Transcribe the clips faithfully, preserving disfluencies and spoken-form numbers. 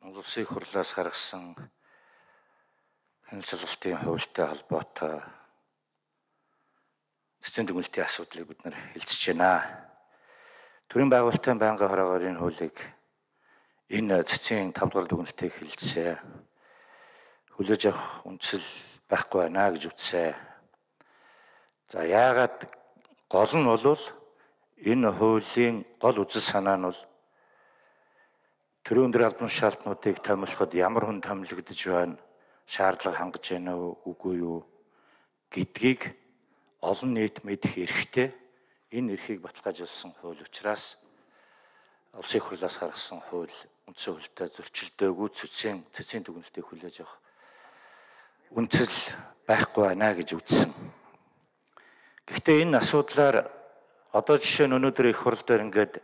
Улсын хурлаас гаргасан хяналт шалгалтын хуультай холбоотой цэцэн дүгнэлтийн асуудлыг бид нар хэлцэж байна. Төрийн байгуулалтын байнгын хороогийн хуулийг энэ цэцэн тавд дугаар дүгнэлтийг хэлцээ. Хүлээж авах үндэслэл байхгүй байна гэж үтсэ. За яагаад гол нь бол энэ хуулийн гол үзэл санаа нь бол төрийн өндөр албан шаардлагуудыг томилоход ямар хүн томилогдож байна, шаардлага хангаж байна уу, үгүй юу гэдгийг олон нийт мэдэх эрхтэй. Энэ эрхийг баталгаажуулсан хууль учраас улсын хурлаас гаргасан хууль үндсэн хуультай зөрчилдөөгүй цэцэн цэцэн дүгнэлтийг хүлээж авах үндэслэл байхгүй байна гэж үзсэн. Гэхдээ энэ асуудлаар одоо жишээ нь өнөөдөр их хурл дээр ингээд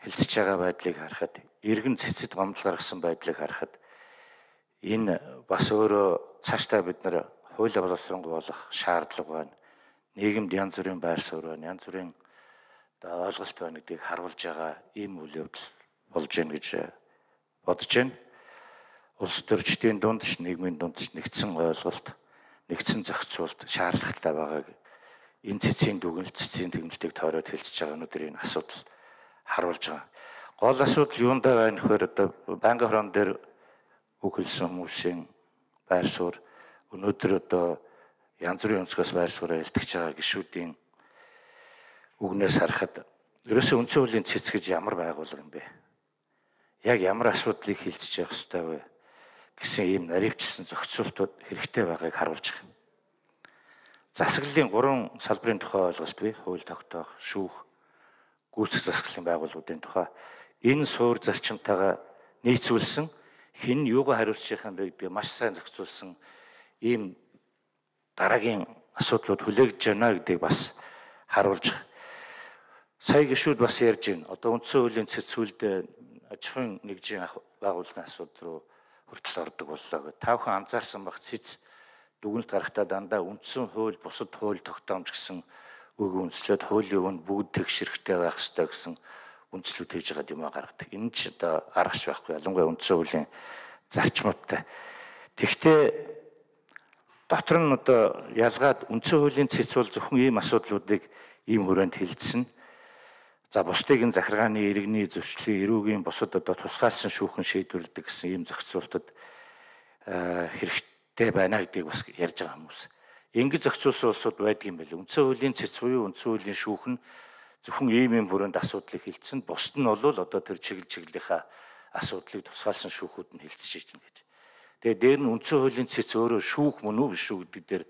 хэлцэж байгаа байдлыг харахад, иргэн цэцэд гомдол гаргасан байдлыг харахад энэ бас өөрөө цаашдаа бид нар хуулийн боловсронгуй болох шаардлага байна. Нийгэмд янз бүрийн байр суурь байна, янз бүрийн ойлголт байна гэдгийг харуулж байгаа ийм үйл явдал болж байна гэж бодож байна. Улс төрчдийн дунд ч нийгмийн дунд ч нэгдсэн ойлголт, нэгдсэн зохицуулт шаардлагатай байгааг энэ цэцэн дүгнэлт, цэцэн дүгнэлтийг тойроод хэлцэж байгаа өнөөдөр энэ асуудал харуулж байгаа. Гол асуудал юундаа байна гэхээр одоо байнгын хорон дээр үг хэлсэн хүмүүсийн байр суурь өнөөдөр одоо янз бүрийн өнцгөөс байр сууриа илтгэж байгаа гишүүдийн үгнээс харахад ерөөсөө үндсэн хуулийн цэц гэж ямар байгууллага юм бэ? Яг ямар асуудлыг хэлцэж явах ёстой вэ гэсэн ийм наривчлсан зохицуултууд хэрэгтэй байгааг харуулж байгаа. Засаглалын гурван салбарын тухай ойлголт бий. Хууль тогтоох, шүүх, гүйцэтгэх засаглалын байгууллагуудын тухай. Энэ суур зарчимтайгаа нийцүүлсэн хэн юугаа хариуцчих юм бэ гэдгийг маш сайн зохицуулсан ийм дараагийн асуудлууд хүлээгдэж байна гэдгийг бас харуулж байгаа. Сая гишүүд бас ярьж байна. Одоо үндсэн хуулийн цэцүүлд аж ахуйн нэгжийн байгууллагын асуудал руу хүртэл ордог боллоо гэж. Та бүхэн анзаарсан баг цэц дүгнэлт гаргахтаа дандаа үндсэн хууль, бусад хууль тогтоомж гэсэн үг үндэслээд хуулийн үнд бүгд тэгшэрхтэй байх ёстой гэсэн үндслүүд хийж байгаа юм а гаргадаг. Энэ ч одоо аргач байхгүй. Ялангуяа үндсэн хуулийн зарчмуудтай. Тэгвэл дотор нь одоо ялгаад үндсэн хуулийн цэц бол зөвхөн ийм асуудлуудыг ийм хүрээнд хэлсэн. За бусдыг энэ захиргааны иргэний зөрчлийн эрүүгийн бусад одоо тусгаалсан шүүхэн шийдвэрлэдэг гэсэн ийм зохицуултад хэрэгтэй байна гэдгийг бас ярьж байгаа хүмүүс. Ингэж зохицуулсан улсууд байдаг юм байл. Үндсэн хуулийн цэц буюу үндсэн хуулийн шүүх нь зөвхөн ийм ийм хүрээнд асуудлыг хэлсэн. Бусд нь бол одоо тэр чиглэл чиглэлийнхаа асуудлыг тусгаалсан шүүхүүд нь хэлцэж байна гэж. Тэгээ дээр нь үндсэн хуулийн цэц өөрөө шүүх мөн үү биш үү гэдэг дээр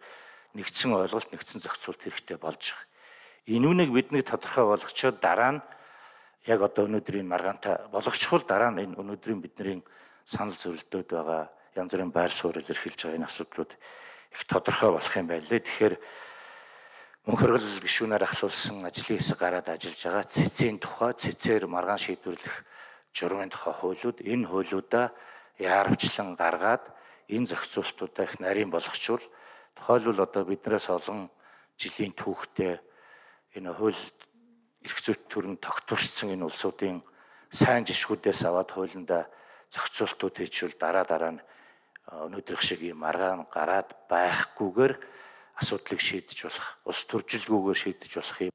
нэгдсэн ойлголт, нэгдсэн зохицуулт хэрэгтэй болж байгаа. Энүүнийг бидний тодорхой болгочоод дараа нь яг одоо өнөөдрийн маргаантай болгочихвол дараа нь энэ өнөөдрийн бидний санал зөвлөлтөд байгаа янз бүрийн байр суурь илэрхийлж байгаа энэ асуудлууд их тодорхой болох юм байна лээ. Тэгэхээр мөнх хөргөл гишүүнээр ахлуулсан ажлын хэсэг гараад ажиллаж байгаа цэцэн тухай, цэцээр маргаан шийдвэрлэх журмын тухай хуулиуд энэ хуулиудаа яарвчлан гаргаад энэ зохицуултуудаа их нарийн болгочвол тухайлбал одоо биднээс олон жилийн түүхтэй энэ хууль эрх зүйт төрөнд тогтворцсон энэ улсуудын сайн жишгүүдээс аваад хуулиндаа зохицуултууд хийчихвэл дараа дараа нь өнөөдрөх шиг ийм маргаан гараад байхгүйгээр асуудлыг шийдэж болох, улс төржилгүйгээр шийдэж болох юм